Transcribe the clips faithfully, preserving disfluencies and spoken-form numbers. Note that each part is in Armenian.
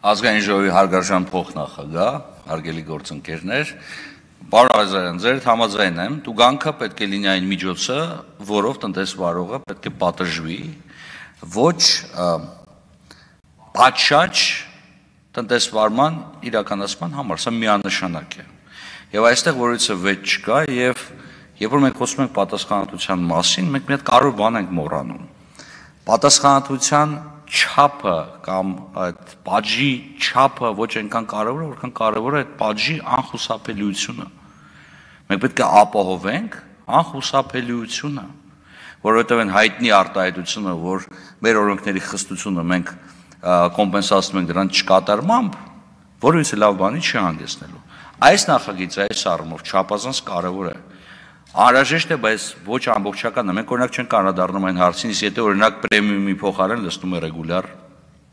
Ազգային ժողովի հարգարժան փոխնախագահ, հարգելի գործընկերներ, պարոն Ղազարյան, ձեր համաձայն եմ, տուգանքը պետք է լինի այն միջոցը, որով տնտեսվարողը պետք է պատժվի, ոչ պատշաճ տնտեսվարման իրականացման համար, սա միանշանակ է։ Եվ այստեղ որևիցե վեճ չկա, եւ երբ որ մենք խոսում ենք պատասխանատվության մասին, մենք մի հատ կարևոր բան ենք մոռանում։ Պատասխանատվության չափը կամ այդ պատժի չափը ոչ այնքան կարևոր է, որքան կարևոր է այդ պատժի անխուսափելիությունը։ Մենք պետք է ապահովենք անխուսափելիությունը, որովհետև այն հայտնի արտահայտությունը, որ մեր օրենքների խստությունը մենք կոմպենսացնում ենք դրան չկատարմամբ, որովհետև լավ բանի չի հանգեցնելու։ Այս նախագիծը այս առումով չափազանց կարևոր է։ Անհրաժեշտ է, բայց ոչ ամբողջական է։ Մենք օրինակ չենք անդրադառնում այն հարցին, իսկ եթե օրինակ պրեմիումի փոխարեն լսնում է ռեգուլյար,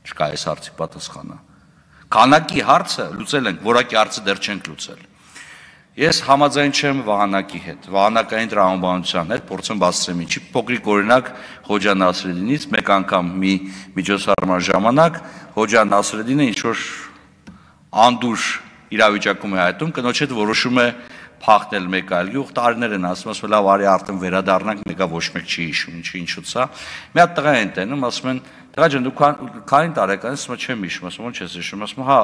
չկա այս հարցի պատասխանը։ Քանակի հարցը լուծել ենք, որակի հարցը դեռ չենք լուծել։ Ես համաձայն չեմ Վահանակի հետ, Վահանակային տրամաբանության հետ, փորձեմ բացատրեմ ինչի, փոքրիկ օրինակ Խոջա Նասրեդինից մեկ անգամ մի միջոցառման ժամանակ Խոջա Նասրեդինը ինչ որ անդուր իրավիճակում է հայտում, կնոջ հետ որոշում է փախնել մեկ այլ գյուղ, տարիներ են ասում, ասում լավ արի արդեն վերադառնանք, մեկա ոչ մեկ չի հիշում, ինչի ինչու՞ց է։ Մի հատ տղա են տենում, ասում են, տղա ջան, դու քանի տարեկան ես, ասում չեմ հիշում, ասում ո՞նց ես հիշում, ասում հա,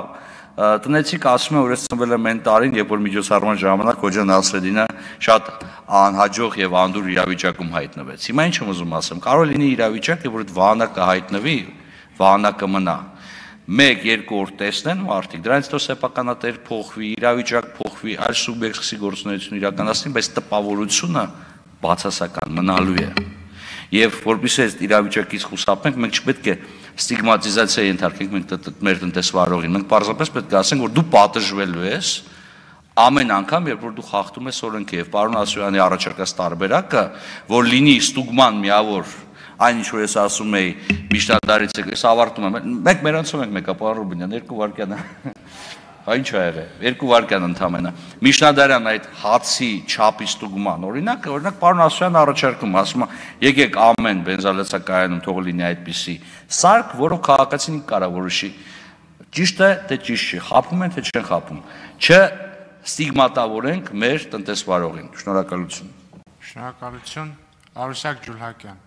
տնեցիք ասում է, որ ես ծնվել եմ այն տարին, երբ որ միջոցառման ժամանակ Խոջա Նասրեդինը շատ անհաջող եւ անդուր իրավիճակում հայտնվեց։ Հիմա ինչ եմ ուզում ասեմ, կարող է լինի իրավիճակ, որ այդ Վահանակը հայտնվի, Վահանակը մնա։ Մեկ, երկու օր տեսնեն մարդիկ, դրանից հետո սեփականատեր փոխվի, իրավիճակ փոխվի, այլ սուբյեկտ սկսի գործունեություն իրականացնի, բայց տպավորությունը բացասական մնալու է։ Եվ որպեսզի այս իրավիճակից խուսափենք, մենք չպետք է ստիգմատիզացիա ենթարկենք մենք մեր տնտեսվարողին։ Մենք պարզապես պետք է ասենք, որ դու պատժվելու ես ամեն անգամ, երբ որ դու խախտում ես օրենքը, եւ պարոն Ասոյանի առաջարկած տարբերակը, որ լինի ստուգման միավոր այն ինչ որ ես ասում էի միջնադարից ես ավարտում եմ մենք մերանցում ենք մեկա պարոն Ռուբինյան երկու վայրկյան հա ինչ ա եղել երկու վայրկյան ընդամենը միջնադարյան այդ հացի չափի ստուգման օրինակ օրինակ պարոն Ասոյանը առաջարկում ասում է եկեք ամեն բենզալեցակայանում թող լինի այդպիսի սարք որով քաղաքացին կարա որոշի ճիշտ է թե ճիշտ չի խափում են թե չեն խափում չէ ստիգմատավորենք մեր տնտեսվարողին շնորհակալություն շնորհակալություն Արուսյակ Ջուլհակյան